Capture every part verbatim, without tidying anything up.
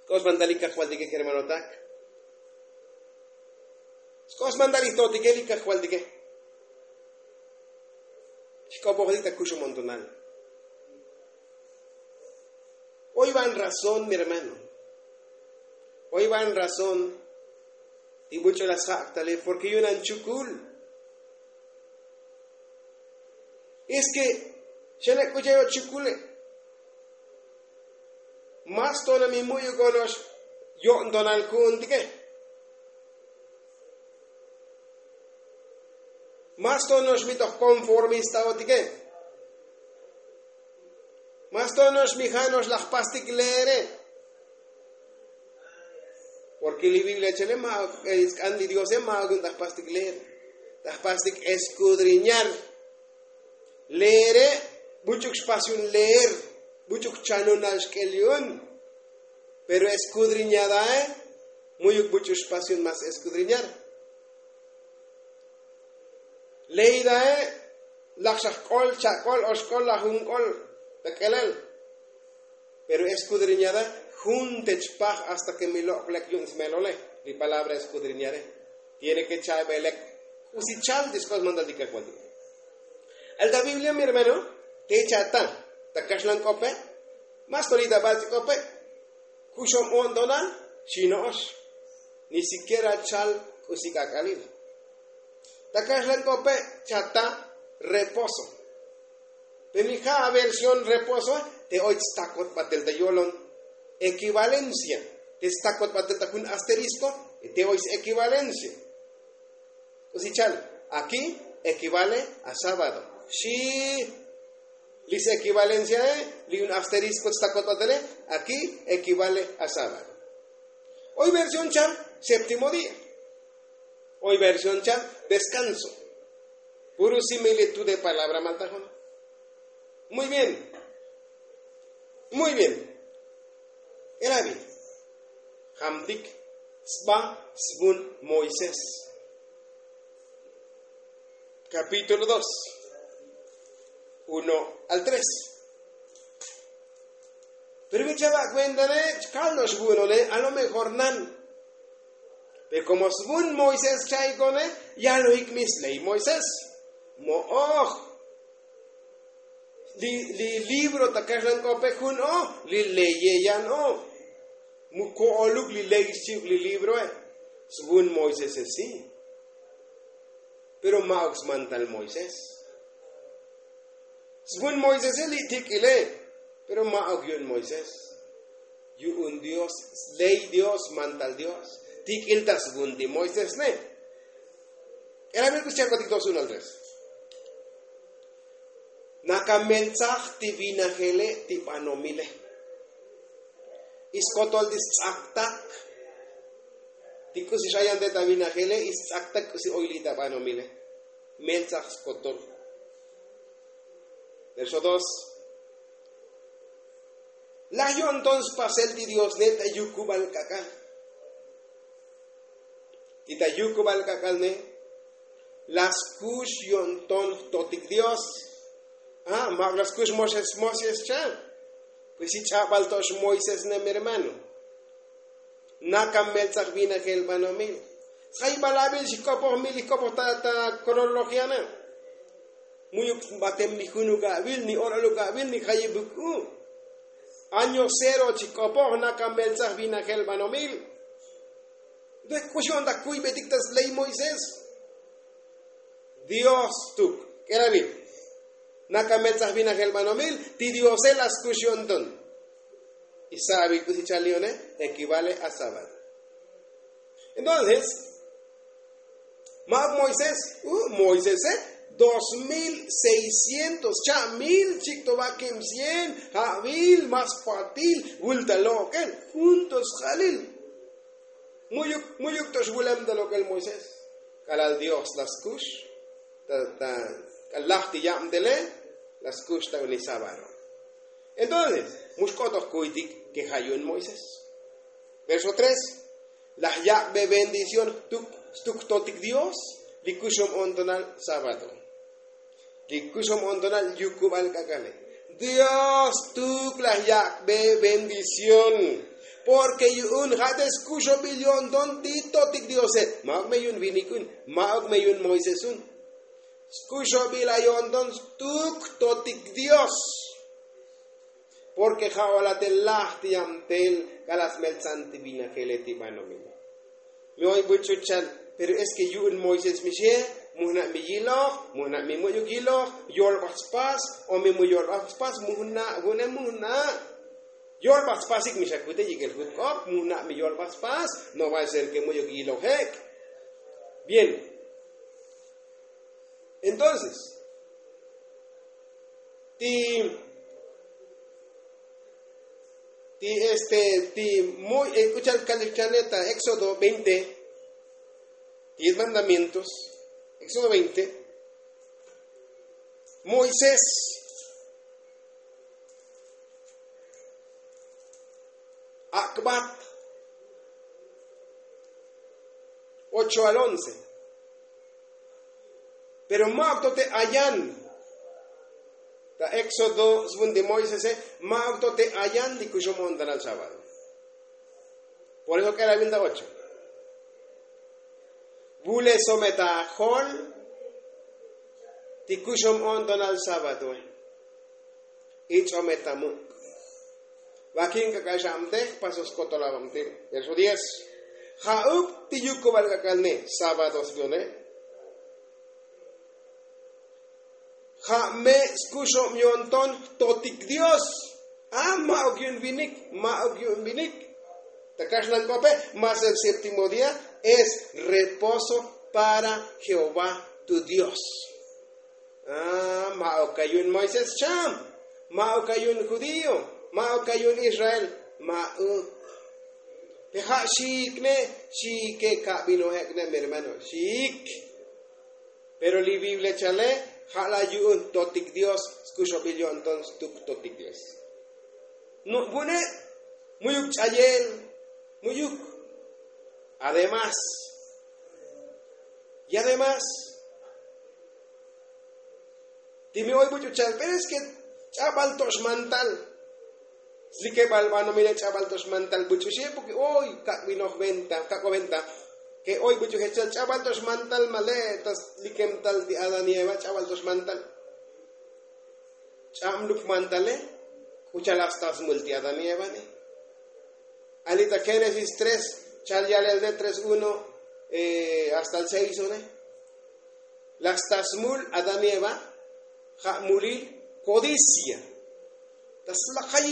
Sk'os mandal li kajvaltike kermanotak. Sk'os mandal li totike li kajvaltike. Xk'opojotik ta kuxumontonal. Oy van razón mi hermano. Oy van razón. Ti buch'u la sjak' tale porke yunan chukul. Es ke xana' k'ucha' yo' chukule'. Mas tona mi mu'yuk ono'ox yo'ntonal ku'untike. Mas tono'ox mi toj konformista otike. Mas tono'ox mi ja'no'ox laj pastik leere. Porke li biblia chele ma' sk'an li diose ma' okun ta jpastik leer. Ta jpastik eskudriñar. Leere buch'uk xpas yu'un leer. Buch'uk chanunal xk'el yu'un. Pero eskudriñadae mu'yuk buch'uk xpas yu'un mas eskudriñar. Leidae laj xa jk'ol chak'ol o xk'ol laj jun k'ol ta k'elel. Pero eskudriñada jun te chpaj hasta ke mi lok' lek yu'un smelole. Li palabra eskudriñare tiene ke cha'be lek k'usi chal ti sk'os mandal ti kajvaltik. El ta biblia mi hermano te chata ta kaxlan k'ope. Mas tolita bal ti k'ope kuxom o'ntonal xino'ox. Ni sikiera chal k'usi k'ak'alil. Ta kaxlan k'ope chata reposo. Pe mi ja' aversión reposo te oy tstakot batel ta yolon. Ekivalencia te tstakot batel ta jun asterisko te oy sekivalencia. K'usi chal aki ekivale a sábado. Xi li sekivalenciae li jun asterisko tstakot batele. Aki ekivale a sábado. Oy versión chal séptimo día. Oy versión chal deskanso. Puru similitud de palabra maltajona. Muy bien. Muy bien. Erabi jamtik sba svun moisés. Kapítulo dos uno al tres. Pero mi chava' kuentane chkal no'ox vu'unone a lo mejor nan. Pero komo svun moisés chaikone yalojik mi sley moisés. Mo'oj. Li libro ta kaxlan k'ope jun o li leye yan o. Mu ko'oluk li ley xchi'uk li libroe. Svun moisese si. Pero ma'uk smantal moisés. Svun moisese li tik'ile. Pero ma'uk yu'un moisés. Yu'un dios sley dios smantal dios. Tik'il ta svun ti moisés ne. K'elabil k'usi cha'kotik dos uno al tres. Nakameltsaj ti vinajele ti banomile. Iskotol ti sts'aktak. Ti k'usi x'ayante ta vinajele ists'aktak k'usi oy li' ta banomile. Meltsaj skotol. Verso dos. Laj yo'nton spasel ti diosne ta yukubal k'ak'al. Ti ta yukubal k'ak'alne la skux yo'nton jtotik dios. A ma'uk la skux moxes moxes cha. Pues si ch'abal to xmoisés ne mi hermano. Nakameltsaj vinajel banomil. Tsjayibal abil xik'opoj mi li jk'opoj ta kronologiana. Mu'yuk batem ni junuk abil ni or'oluk abil ni jayibuk u. Año cero chik'opoj nakameltsaj vinajel banomil. Entonces k'uxi on ta kuybetik ta sley moisés. Dios tuk k'elabil. Nakameltsaj vinajel banomil ti diose la skux yo'nton. Isabil k'usi chal lione ekivale a sábado. Entonces ma'uk moisés u moisese dos mil seiscientos cha' mil chikto vakim cien. Ja'vil mas patil vulta lok'el juntos jalil. Mu'yuk mu'yuk to xvulem ta lok'el moisés. K'alal dios la skux ta ta k'al laj ti yabtele la skux ta uni sábado. Entonces mu xk'ot oj kuytik ke ja' yu'un moisés. Verso tres. Laj yak'be bendición jtuk jtotik dios li kuxom o'ntonal sábado. Li kuxom o'ntonal yukubal k'ak'ale dios jtuk laj yak'be bendición. Porke yu'un ja' te skuxobil yo'nton ti totik diose. Ma'uk me yu'un vinik un, ma'uk me yu'un moisés un. Skuxobil a yo'nton stuk totik dios. Porke ja' ola te laj ti yabtel k'ala' smeltzan ti vinajele ti banomile. Mi oy buch'u chal, pero es ke yu'un moisés mixe, mujna' mi yiloj, mujna' mi mu'yuk yiloj, yolbaj spas, o mi mu yolbaj spas mujna', vu'une mujna'. Yolbaj spasik mi xakute yik'el jutk'op, mujna' mi yolbaj spas. No va a ser ke mu'yuk yiloj ek'. Bien. Entonces, ti ti este ti muy e k'u chal kalik chane ta éxodo veinte, ti mandamientos. Éxodo veinte. Moisés akbat ocho al once. Pero ma'uk to te ayan ta éxodo svun ti moisese, ma'uk to te ayan ti kuxum o'ntonal sábado. Por eso k'el avil ta ocho. Vule some ta jol ti kuxum o'ntonal sábadoe. Ich'ome ta muk'. Vakin k'ak'al xa'mtej paso skotol avamtil. Verso diez. Ja'uk ti yukubal k'ak'al ne sábado sbione. Ja' me' skuxob yo'nton jtotik dios. A ma'uk yu'un vinik, ma'uk yu'un vinik. Ta kaxlan k'ope, mas el séptimo día es reposo para jehová tu dios. A ma'uk a yu'un moisés cham, ma'uk a yu'un judío, ma'uk a yu'un israel. Ma'uk. Pe ja' xiik ne, xiike kabinojek ne mi hermano, xiik. Pero li biblia chale ja' la yu'un totik dios. Skuxobil yo'nton stuk totik dios. No vune'. Mu'yuk ch'ayel. Mu'yuk. Además, y además ti mi oy buch'u chal pero es ke ch'abal to xmantal. Slikebal banomile ch'abal to xmantal buch'u xie porke oy kak'binoj venta kak'o venta. Ke oy buch'u jechal ch'abal to xmantal male' ta slikem tal ti adán y eva ch'abal to xmantal. Ch'ab luk mantale k'u chal hasta smul ti adán y eva ne. Ali ta génesis tres, chal yalel ne tres uno hasta el seis one. Laj sta smul adán y eva ja' mulil kodicia. Ta slaj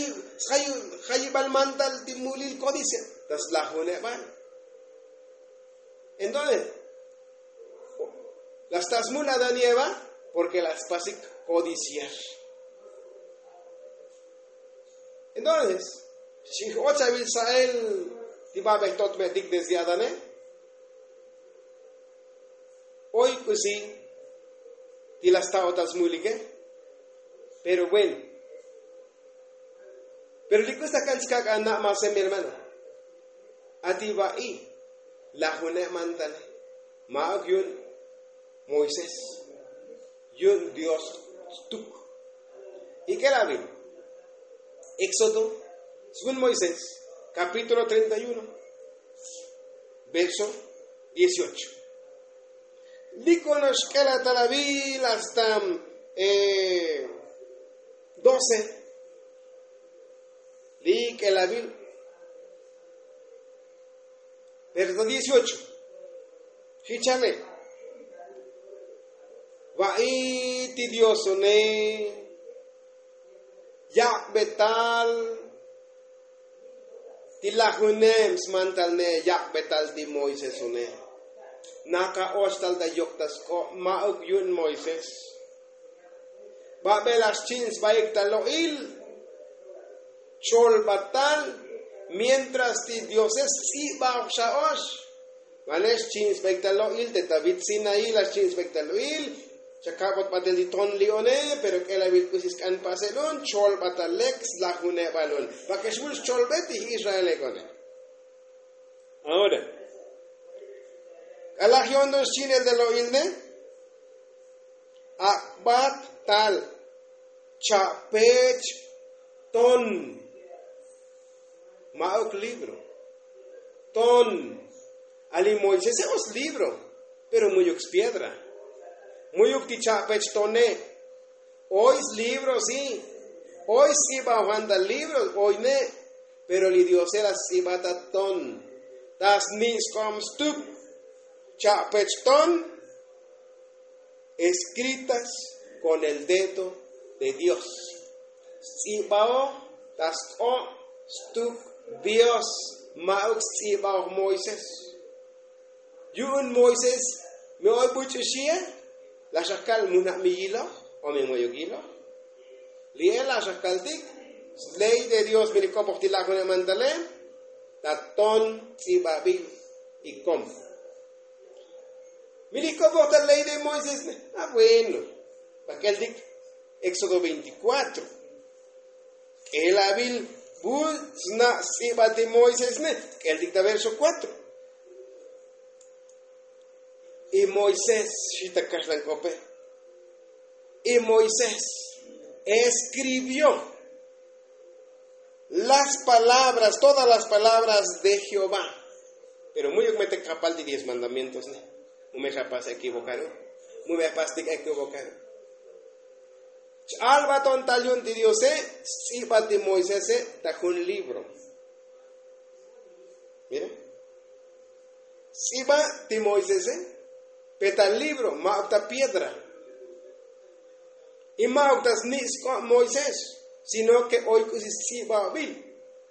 jayibal mantal ti mulil kodicia ta slajunebal. Entonces laj sta smul adán y eva porke laj spasik kodiciar. Entonces xij och avil sa'el ti babej totmetik desde adane. Oy k'usi ti la sta otal smulike. Pero bueno, pero li k'usi ta kan chkak' ana' mase mi hermano. Ati va'i lajune' mantale ma'uk yu'un moisés, yu'un dios stuk. Ik'el avil éxodo svun moisés kapítulo treinta y uno, verso dieciocho. Li konox k'el atal avil hasta doce. Li k'el avil verso dieciocho. Jichane va'i ti diosone yak'betal ti lajuneb smantalne yak'betal ti moisés une. Naka och tal ta yok ta sk'ob ma'uk yu'un moisés. Babel laj xchi'n sbaik ta lo'il cholbatal mientras ti diose sts'ibaj xa och. Vane xchi'n sbaik ta lo'il te ta vit sinaí laj xchi'n sbaik ta lo'il. Chakabot batel ti tonli'one pero k'el avil k'usi sk'an pasel un cholbatal lek slajunebal un. Pake xvul scholbe ti israelekone. Ahora k'alaj yo'nton xchi'nel ta lo'il ne. Ak'bat tal cha'pech ton. Ma'uk libro. Ton. Ali moisese o slibro, pero mu'yuk spiedra. Mu'yuk ti cha'pech tone. Oy slibro si. Oy sts'iba juan ta libro oy ne. Pero li diose la sts'iba ta ton, ta sni' sk'ob stuk. Cha'pech ton, escritas con el dedo de Dios. Sts'ibaoj ta sk'ob stuk Dios. Ma'uk sts'ibaoj moisés. Yu'un moisés mi oy buch'u xie. La xakal mujna' mi yiloj o mi moyuk yiloj. Li'e la xakaltik sley de Dios mi li k'opoj ti lajune' mantale. Ta ton ts'ibabil y kom mi li k'opoj ta ley de moisés ne. Ah bueno. Pak'eltik éxodo veinticuatro. K'elabil bu sna' sts'iba ti moisés ne. K'eltik ta verso cuatro. Y moisés xita kaxlan k'ope. Y moisés escribió las palabras todas las palabras de jehová. Pero mu'yuk metek kapal ti diez mandamientos ne. Mu me xapas equivocaru. Mu me xapas tik equivocaru. Ch'albaton tal yu'un ti diose. Sts'iba ti moisese ta jun libro. Mira. Sts'iba ti moisese pe ta libro ma'uk ta piedra. Y ma'uk ta sni' sk'ob moisés. Sino ke oy k'usi sts'ibabil.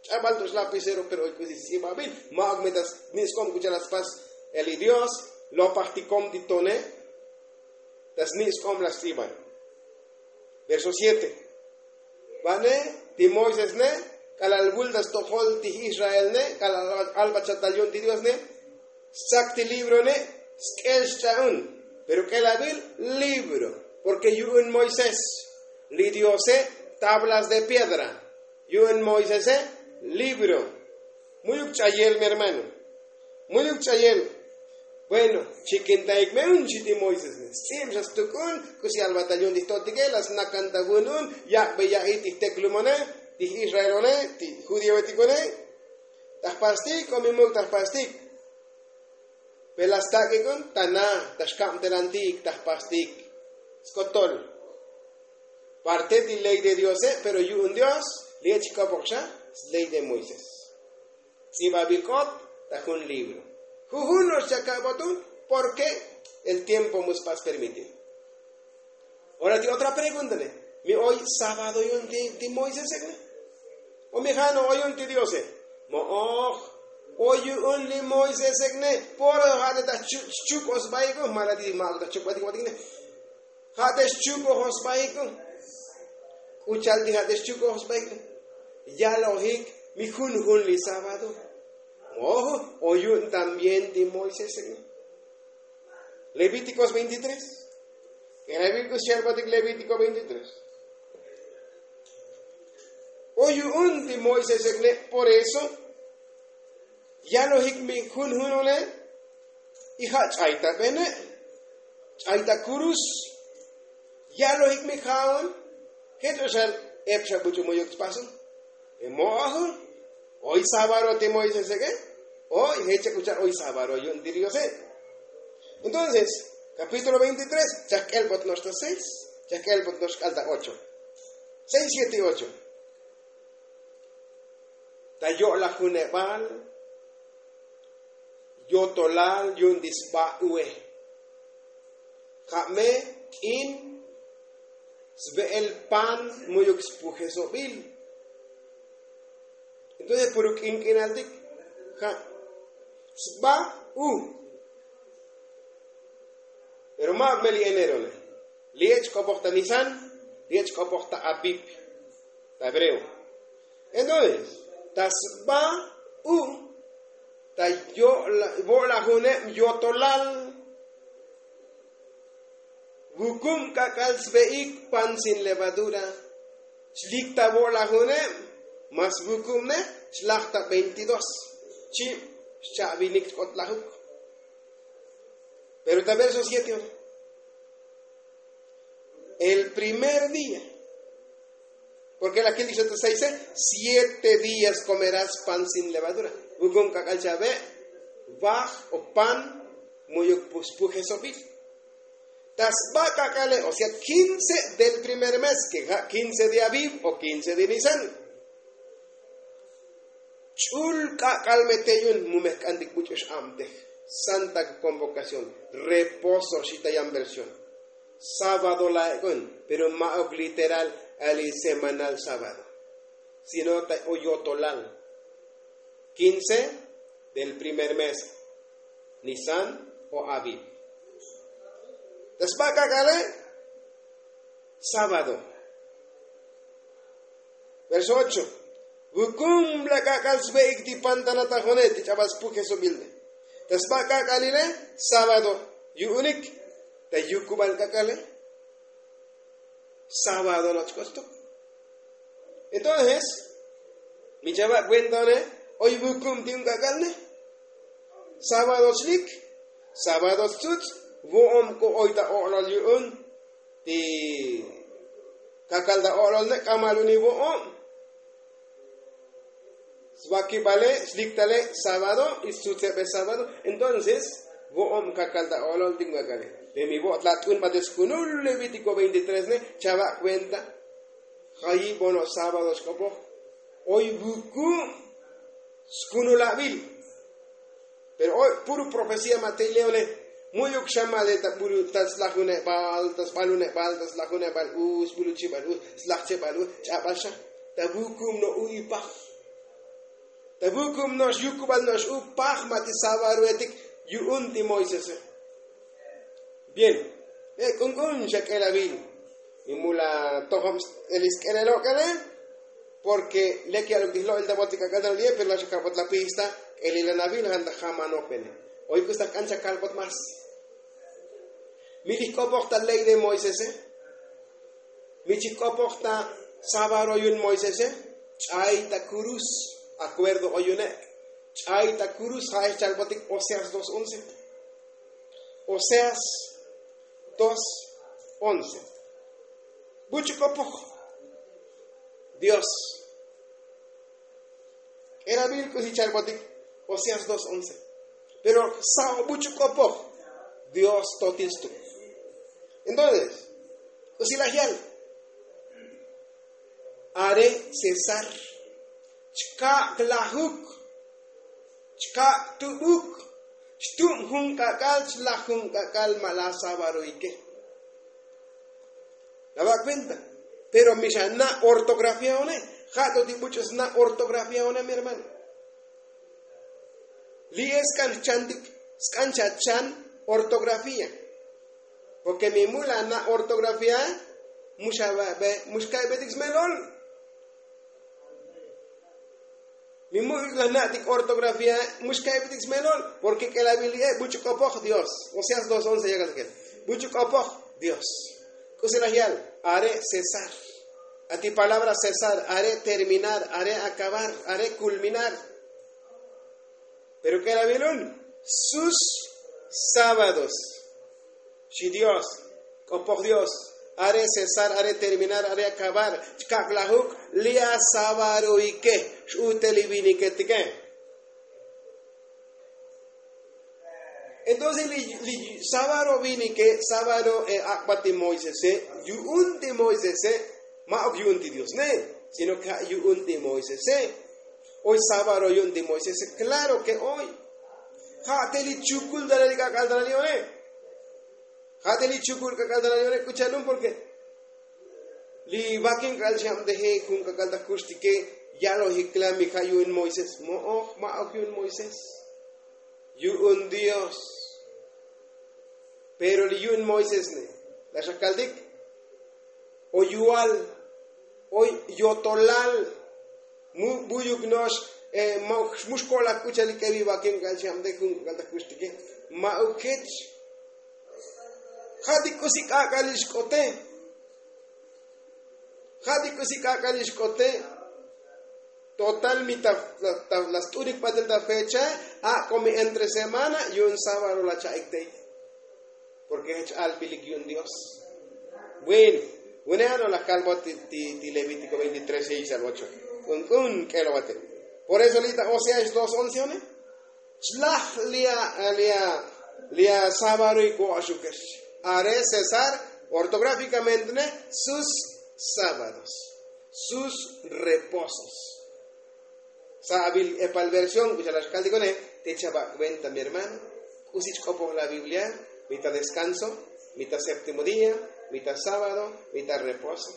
Ch'abal to xlapisero pero oy k'usi sts'ibabil. Ma'uk me ta sni' sk'ob k'u cha'al la spas. Eli dios lopaj ti kom ti tone. Ta sni' sk'ob la sts'iba. Verso siete. Va'ne ti moisés ne k'alal vulta stojol ti israel ne k'alal albat xatal yu'un ti dios ne. Stzak ti libro ne sk'el xch'a'un. Pero k'elabil libro. Porke yu'un moisés li diose tablas de piedra. Yu'un moisese libro. Mu'yuk ch'ayel mi hermano. Mu'yuk ch'ayel. Bueno, chikintaik me un chi ti moisés ne sts'ib xa stuk'un. K'usi albatal yu'un ti jto'tike la snakan ta vun un. Yak'be ya'i ti jteklumone ti israelone ti judioetikone. Ta jpastik o mi muk' ta jpastik. Pe la stak'ik un ta na ta xkabtelantik ta jpastik. Skotol parte ti ley de diose pero yu'un dios. Li' chik'opok xa sley de moisés. Ts'ibabil k'ot ta jun libro. Jujun no'ox chaka'bot un. Porke el tiempo mu spas permitir. Ora ti otra pregunta ne. Mi oy sábado yu'un ti moisesek ne? O mi ja' no oy yu'un ti diose? Mo'oj. Oy yu'un li moisesek ne. Poro ja' te ta xchuk'oj sbaik un ma' la ti ma' ta xchuk'oj sbaik un. Ja' te xchuk'oj sbaik un. K'u cha'al ti ja' te xchuk'oj sbaik un. Yalojik mi junjun li sábado. Mo'oj. Oy yu'un también ti moisesek ne. Levítikos veintitrés. K'enabil k'u xchalbatik levítiko veintitrés. O yu'un ti moisesek ne' por eso yalojik mi junjunune'. Y ja' ch'ayta bene' ch'ayta kurus. Yalojik mi ja'on jech o xal ep xa buch'u muyuk tspasun. Mo'oj. Oy sábado ti moiseseke'. Oy jech chak k'u cha'al oy sábado yu'un ti diose'. Entonces kapítulo veintitrés chak k'elbot no'ox ta seis. Chak k'elbot no'ox k'al ta ocho. Seis siete y ocho. Ta yo'lajunebal yotolal yu'un ti sba ue. Ja' me k'in sbe'el pan mu'yuk spujesobil. Entonces puru k'ink'inaltik ja' sba u. Pero ma'uk me li enerone. Li ech k'opoj ta nisan. Li ech k'opoj ta apip ta hebreo. Entonces ta sba u ta yo'lajuneb yotolal. Vukub k'ak'al sve'ik pan sin levadura. Chlik ta vo'lajuneb mas vukubne chlaj ta veintidos. Chib xcha'vinik chk'otlajuk. Pero ta verso siete ora el primer día. Porke la kiltik xa ta seise, siete días komeras pan sin levadura. Vukun k'ak'al chave vaj o pan mu'yuk spujesobil. Ta sba k'ak'ale o sea kince del primer mes ke ja' kince de aviv o kince de nisan. Ch'ul k'ak'al me te' yu'un mu me jk'antik buch'u x'abtej. Santa convokación, reposo xita yan versión. Sábado la'ek'un pero ma'uk literal ali semanal sábado, sino ta o yotolal. Kince del primer mes, nisan o aviv. Ta sba k'ak'ale sábado. Verso ocho. Vukum la k'ak'al sve'ik ti pantanatajo'ne ti ch'abal spujesobilne. Ta sba k'ak'alile sábado yu'unik. Ta yukubal k'ak'ale sábado nochk'ostuk. Entonces mi chava' kuentone oy vukum ti un k'ak'alne. Sábado chlik, sábado tzutz, vo'om k'u oy ta o'lol yu'un ti kakal ta o'lol ne' k'amal uni vo'om. Svakibale sliktale sábado y stzutzebe sábado. Entonces vo'om kakal ta o'lol ti un k'ak'ale. Pe mi vo'ot la t'un bate skunul levítiko veintitrés ne chava' kuenta. Jayi' bono sábado xk'opoj oy vuku' skunulabil. Pero oy puru profecía ma' te' leone. Mu'yuk xa ma' le ta bulu ta slajunebal ta sbalunebal ta slajunebal u sbuluchibal u slajchebal u ch'abal xa. Ta vukum no' u ipaj. Ta vukum no' xyukubal no' x'u paj ma' ti savaruetik yu'un ti moisese. Bien. Ek'unk'un xa k'elavil. Mi mula tojom elisk'elelo' k'ele. Porke lek ya'luk ti jlo'il ta bot ti k'ak'al ta li'e pero la xa kalbot la pista k'elilanavil jan ta jamanopene. Oy k'us ta jk'an xa kalbot más. Mi li jk'opoj ta ley de moisese. Mi chi jk'opoj ta savaro yu'un moisese. Ch'ay ta kurus. Akuerdo oy yu'une'. Ch'ay ta kurus ja'ex chalbotik oseas dos once. Oseas dos once. Buch'u k'opoj dios. K'eravil k'usi chalbotik oseas dos once. Pero sa'o buch'u k'opoj dios totil stuk. Entonces k'usi laj yal. Are cesar chkak' lajuk. Chkak' tubuk. Xtub jun k'ak'al chlaj jun k'ak'al ma' la savaroike. La va' kuenta. Pero mi xa na' ortografiaone. Ja' to ti buch'u sna' ortografiaone mi hermano. Li'e sk'an jchantik sk'an xa chan ortografía. Porke mi mul la na' ortografía mu xa va'be mu xka'ybetik smelol. Mi mu'yuk laj na'tik ortografía mu xka'ybetik smelol. Porke k'elavil li'e buch'u k'opoj dios oseas dos once yakasakel. Buch'u k'opoj dios. K'usi laj yal are cesar. Ati palabra cesar are terminar are acabar are kulminar. Pero k'elavilun sus sábados. Xi dios k'opoj dios. Are cesar are terminar are acabar chkak' lajuk. Li' a savaroike x'ute li viniketike. Entonces li savaro vinike savaro e ak'bat ti moisese. Yu'un ti moisese. Ma'uk yu'un ti diosne sino ke ja' yu'un ti moisese. Oy savaro yu'un ti moisese klaro ke oy. Ja' te li chukul ta la li k'ak'al ta la li one. Ja' te li chukul k'ak'al ta la li one k'u chalun porke li vakin k'ak'al xabteje jun k'ak'al ta jkuxtike. Ya'lojik klamik ja' yu'un moisés mo'oj ma'oj yu'un moisés. Yu'un dios. Pero li yu'un moisés ne la xa kaltik. O yual o yotolal. Mu buyuk no'ox. Mu xko'laj k'u chalik k'evi vakin k'al xabteje jun k'ak'al ta jkuxtike. Ma'uk jech. Ja' ti k'usi k'ak'alil xk'ote. Ja' ti k'usi k'ak'alil xk'ote. Total mi ta la st'unik batel ta fecha. Ak'o mi entre semana yu'un sábado la cha'ik tey. Porke jech albilik yu'un dios. Bueno. Une ano laj kalbo ti levítiko veintitrés seis al ocho. Kun kun k'elo vate. Por eso lita oseas dos once one. Chlaj lia lia lia sabaroy ko'axukex. Are cesar ortográfikamente ne sus sabados, sus reposos. Sa' avil epal versión k'uxalax kaltikone. Te chava' kuenta mi hermano. K'usi chk'opoj la biblia. Mita deskanso, mita séptimo día, mita sábado, mita reposo.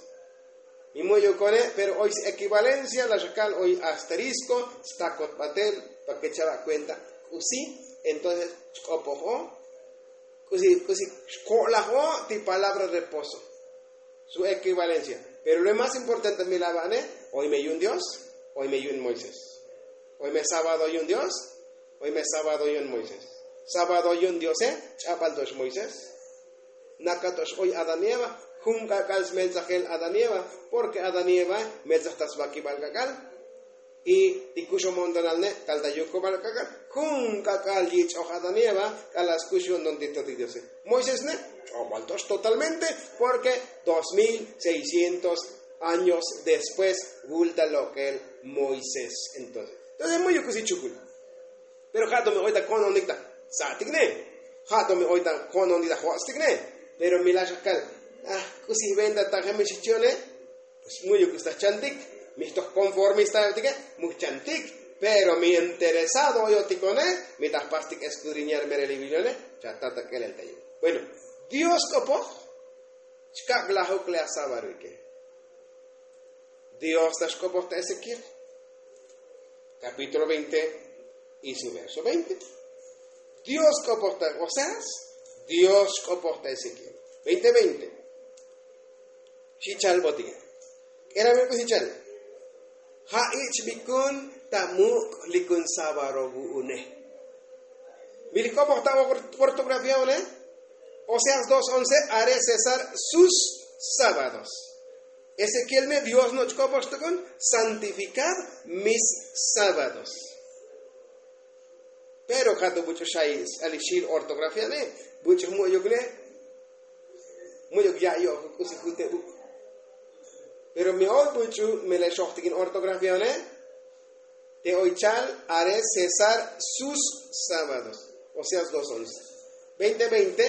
Mi mu'yukone pero oy s-ekivalencia la xakal oy asterisko stakot batel. Pake chava' kuenta k'usi. Entonces chk'opoj o k'usi k'usi xko'laj o ti palabra reposo. Su ekivalencia. Pero lo más importante mi lava'ne, oy me yu'un dios, oy me yu'un moisés. Oy me sábado yu'un dios, oy me sábado yu'un moisés. Sábado yu'un diose ch'abal tox moisés. Naka tox oy adán y eva. Jun k'ak'al smeltsajel adán y eva. Porke adán y eva meltsaj ta svakibal k'ak'al. Y ti kuxomontonal ne' kal ta yukubal k'ak'al. Jun k'ak'al yich'oj adán y eva k'alal skux yu'unton ti totik diose. Moisés ne' ch'obal tox totalmente. Porke dos mil seiscientos años después vulta lok'el moisés. Entonces mu'yuk k'usi chukul. Pero ja' to mi oy ta ko'nonik ta sa'tik ne. Ja' to mi oy ta ko'nonik ta jo'stik ne. Pero mi laj xakal, k'usi venta ta jemix xchi'one. Pues mu'yuk k'usi ta jchantik. Mi jtoj konformista yo'tike, mu jchantik. Pero mi interesado oyotikone, mi ta jpastik eskudriñar merelivilione. Cha' tata k'elel ta yu'. Bueno, dios k'opoj chkak' lajuk le asabaruike. Dios ta xk'opoj ta ezequiel kapítulo veinte y su verso veinte. Dios k'opoj ta oseas. Dios xk'opoj ta ezequiel veinte veinte. Xi chal botike. K'elamil k'usi chal. Ja' ich' bikun ta muk' likun sabaro vu'une. Mi li k'opoj ta ortografía une. Oseas dos once. Are cesar sus sábados. Ezequiel me dios no' chk'opoj xtukun santifikar mis sábados. Pero ja' tu buch'u xay s-alixil ortografía ne'. Buch'u mu'yuk ne'. Mu'yuk ya' yo'ju k'usi jute' bu'. Pero mi oy buch'u mele xojtikin ortografía ne'. Te oy chal are cesar sus sábados. Oseas dos once. Veinte veinte.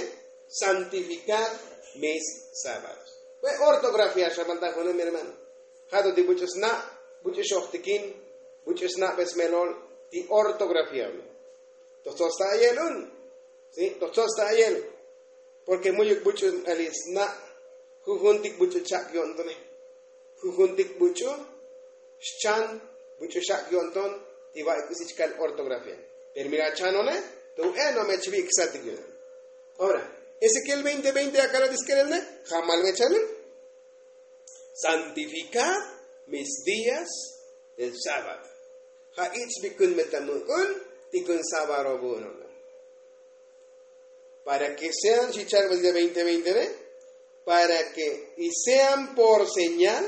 Santifikar mis sábados. Ve ortografía xamalta june' mi hermano. Ja' tu ti buch'u sna' buch'u xojtikin buch'u sna'be smelol ti ortografía. Toj tsots ta ayel un. Toj tsots ta ayel. Porke mu'yuk buch'u ali sna' jujuntik buch'u chak' yo'ntone. Jujuntik buch'u xchan buch'u xak' yo'nton ti va'i k'usi chkal ortografía. Pero mi la chanone. Tu e no me chvi' ksatik yu'un. Ora ezequiel veinte veinte akala' ti sk'elel ne'. Jamal me chanun. Santifikad mis días del sábado. Ja' ich' bikun me ta muk'un ti kun sabaro vu'un. Para ke sean xi chal botike veinte veinte ne'. Para ke y sean por señal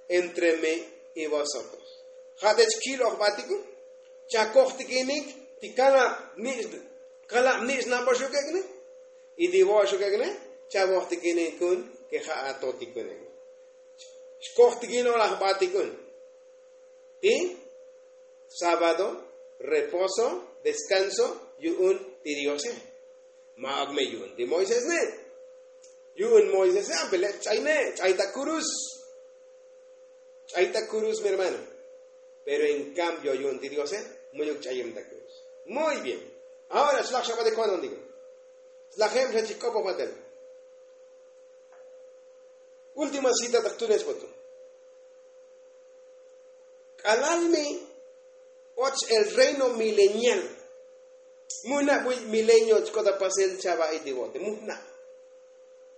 entre mi y vosotros. Ja' te chkiloj batiku. Cha kojtikinik ti kalab nich' kalab nich' naboxukekne. Y ti vo'oxukekne. Cha vojtikinikun ke ja' atotikune. Xkojtikin olaj batikun ti sábado, reposo, deskanso yu'un ti diose. Ma'ok me yu'un ti moisés ne'. Yu'un moisés ne' ampele' ch'ay ne' ch'ay ta kurus. Ch'ay ta kurus mi hermano. Pero en kambio yu'un ti diose mu'yuk ch'ayem ta kurus. Muy bien. Ahora xlaj xabatik ko'nontik. Slajem xa chik k'opoj batel. Última cita ta jtunes voto. K'alal mi och el reino milenial. Mujna' buy milenio chk'ot apasel chava' itivote mujna'.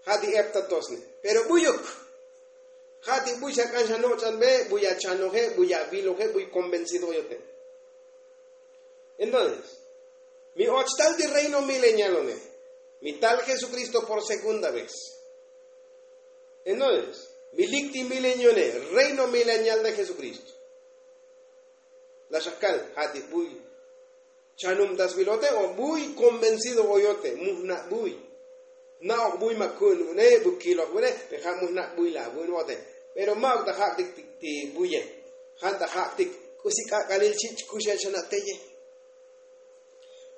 Ja' ti eptatosne pero buyuk. Ja' ti buy xa k'an xa noch'anbe buy achanoje buy aviloje buy konvencido oyote. Entonces mi och tal ti reino milenial one. Mi tal jesukristo por segunda vez. Entonces mi lik ti milenione reino milenial de jesukristo. La xakal ja' ti buy chanum ta svilote o buy konvencido oyote mujna' buy. Na'oj buy ma ku'un une bukiloj une. Pe ja' mu jna' buy la' bu'un vote. Pero ma'uk ta ja'tik ti buye. Jan ta ja'tik k'usi k'ak'alil chich' kuxel xana' teye.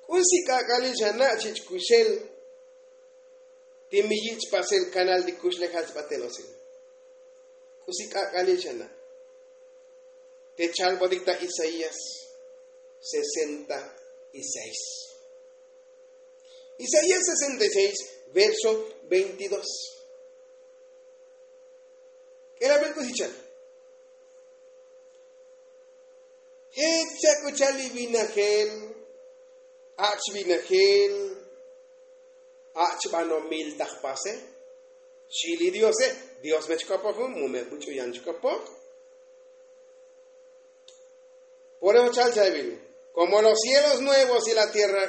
K'usi k'ak'alil xana' chich' kuxel ti mi yich' pasel kanal ti kuxlejal sbatel osil. K'usi k'ak'alil xana'. Te chalbotik ta isaías sesenta y seis. Isaías sesenta y seis, verso veintidós. K'ela' bel k'usi chal. Jech chak' uchal li vinajel ach' vinajel ach' banomil ta jpase. Xi li diose. Dios me chk'opoj jun mu me buch'u yan chk'opoj. Por eso chal chabil, komo los cielos nuevos y la tierra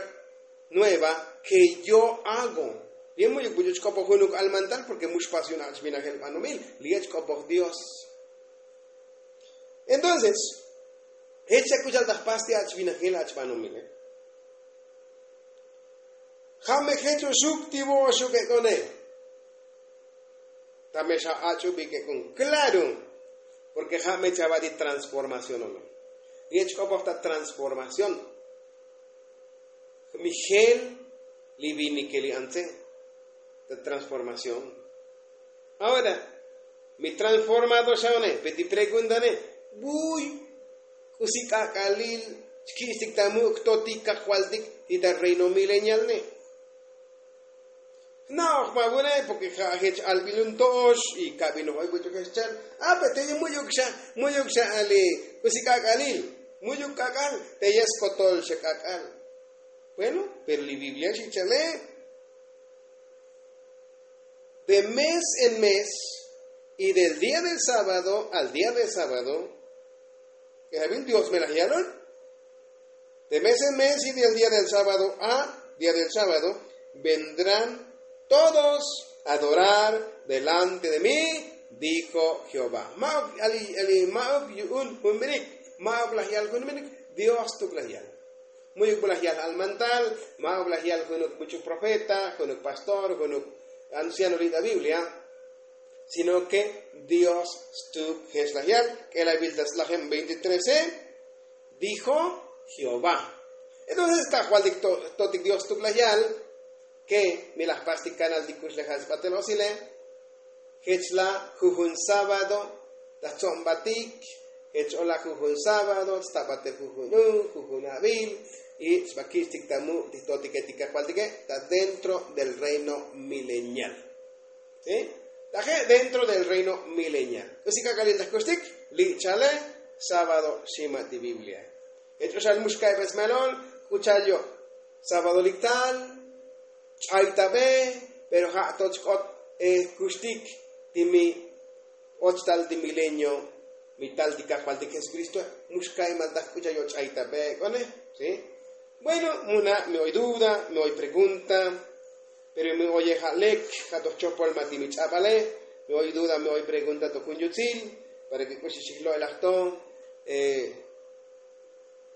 nueva ke yo hago. Li mu'yuk buch'u chk'opoj junuk almantal porke mu xpas yun ach' vinajel banomil. Li ech k'opoj dios. Entonces jech chak' uchal ta jpas ti ach' vinajel ach' banomile. Ja' me jech oxuk ti vo'oxuk ek'one. Ta me xa ach'ubik ek'on klaro. Porke ja' me chava' ti transformación ono. Li ech k'opoj ta transformación. Mi jel li vinike li antze ta transformación. Ahora mi transformado xa one pe ti preguntane. Buy k'usi k'ak'alil chkich'tik ta muk' totik kajvaltik ti ta reino milenial ne. Jna'oj ma vune porke ja' jech albil un to'ox y kabil noj oy buch'u jech chal. Ape teye mu'yuk xa mu'yuk xa ali k'usi k'ak'alil. Mu'yuk k'ak'al teye skotol xa k'ak'al. Bueno, pero li biblia xi chale. De mes en mes y del día del sábado al día del sábado. K'ejabil dios me laj yalon. De mes en mes y del día del sábado a día del sábado vendrán todos a adorar delante de mí, dijo jehová. Ma'uk ali ma'uk yu'un jun minik. Ma'uk laj yal jun minik. Dios tuk laj yal. Mu'yuk bu laj yal almantal. Ma'uk laj yal junuk buch'u profeta junuk pastor junuk anciano li' ta biblia. Sino ke dios stuk jech laj yal. K'elabil ta slajem veintitrese. Dijo jehová. Entonces kajvaltik totik dios stuk laj yal ke mi laj pastik kanal ti kuxlejal sbatel osile. Jech la jujun sábado ta jtzo'nbatik. Jech ola jujun sábado sta batel jujun u jujun abil y sba kich'tik ta muk' ti jtotike ti kajvaltike ta dentro del reino milenial. Taje' dentro del reino milenial k'usi k'ak'alil ta jkuxtik. Li' chale sábado xima ti biblia. Jech oxal mu xka'ibel smelol k'u chal yo' sábado liktal. Ch'aytabe pero ja' to chk'ot jkuxtik ti mi och tal ti milenio mi tal ti kajvaltik jesukristoe. Mu xka'imal ta jk'u chal yo' ch'aytabe ek'one. Bueno, mu na' mi oy duda mi oy pregunta. Pero mi oye ja' lek ja' toj chopol ma ti mi ch'abale. Mi oy duda mi oy pregunta to jun yutsil para ke k'uxi xijlo'elaj to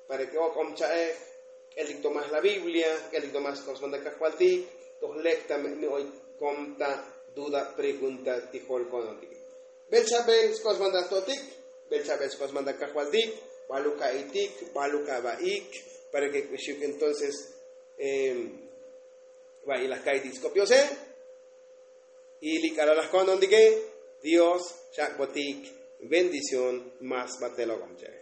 para ke ok'om cha'ej. K'eltik to maj la biblia k'eltik to maj sk'osbanta kajvaltik. Toj lek ta mi oy kom ta duda pregunta ti jol konotik. Bel chabel sk'osbanta totik. Bel chabel sk'osbanta kajvaltik. Baluk a'itik baluk aba'ik para ke k'uxik entonces. Va'i laj ka'itik skop diose. Y li k'alal laj konontike dios xak'botik bendición mas batel ok'om cha'ej.